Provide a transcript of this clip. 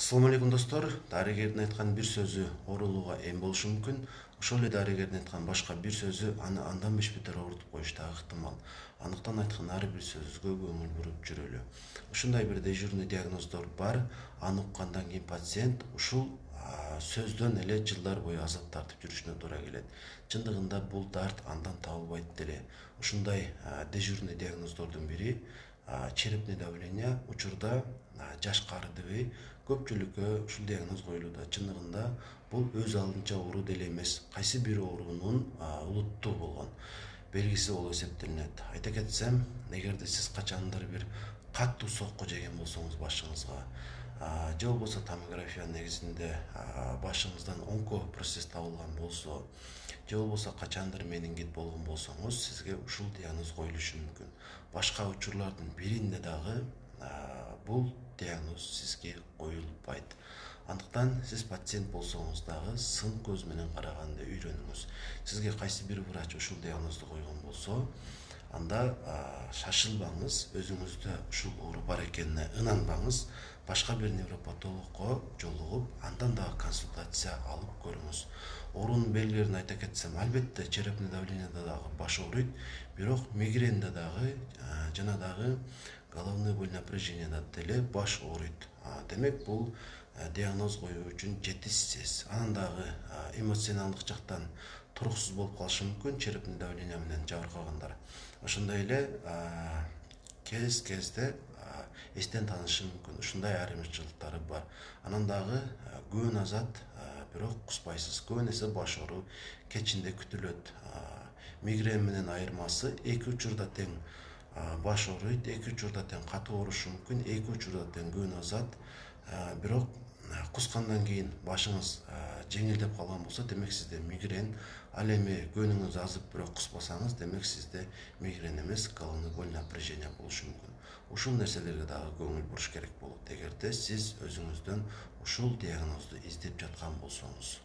Assalamu alaikum достор. Дарыгердин айткан бир сөзү оорулууга эм болушу мүмкүн. Ошол эле дарыгердин айткан башка бир сөзү аны андан беш бетер оорутуп коюшу да ыктымал. Андыктан айткан ар бир сөзгө көңүл буруп жүрөлү. Ушундай бир дежурный диагноздор бар. Аны уккандан кийин пациент ушул сөздөн эле жылдар бою азап тартып жүрүшүнө туура келет. Чындыгында бул дарт андан табылбайт деле. Ушундай дежурный диагноздордун бири черепный давление учурда жаш карыдыбы көпчүлүккө ушул диагноз коюлууда. Чындыгында бул өз алдынча оору деле эмес, кайсы бир оорунун улуттуу болгон белгиси болуп эсептелинет. Айта кетсем, эгерде сиз качандыр бир катуу сокку жеген болсоңуз башыңызга, же болбосо томография негизинде башыңыздан онкопроцесс табылган болсо, же болбосо качандыр менингит болгон болсоңуз, сизге ушул диагноз коюлушу мүмкүн. Башка учурлардын биринде дагы бул диагноз сизге коюлбайт. Андыктан сиз пациент болсоңуз дагы сын көз менен караганды үйрөнүңүз. Сизге кайсы бир врач ушул диагнозду койгон болсо, анда шашылбаңыз, өзүңүздө ушул оору бар экенине ынанбаңыз, башка бир невропатологко жолугуп, андан дагы консультация алып көрүңүз. Оорунун белгилерин айта кетсем, албетте черепный давлениеде дагы баш ооруйт, бирок мигренде дагы жана дагы головной боль напряжениеда деле баш ооруйт. Демек бул диагноз коюу үчүн жетишсиз. Анан дагы эмоционалдык жактан туруксуз болуп калышы мүмкүн, черепный давление менен жабыркагандар. Ошондой эле кезде эстен танышы мүмкүн. Ушундай айырмачылыктары бар. Анан дагы күбө азат, бирок куспайсыз. Көбүн эсе баш оору кечинде күтүлөт. Мигрен менен айырмасы эки учурда тең баш ооруйт, эки учурда тең катуу оорушу мүмкүн, эки учурда тең күбө азат, бирок кускандан кийин башыңыз жеңилдеп калган болсо, демек сизде мигрен. Ал эми көнүңүз азып, бирок куспасаңыз, демек сизде мигрен эмес, головной боль напряжение болушу мүмкүн. Ушул нерселерге дагы көңүл буруш керек болот, эгерде сиз өзүңүздөн ушул диагнозду издеп жаткан болсоңуз.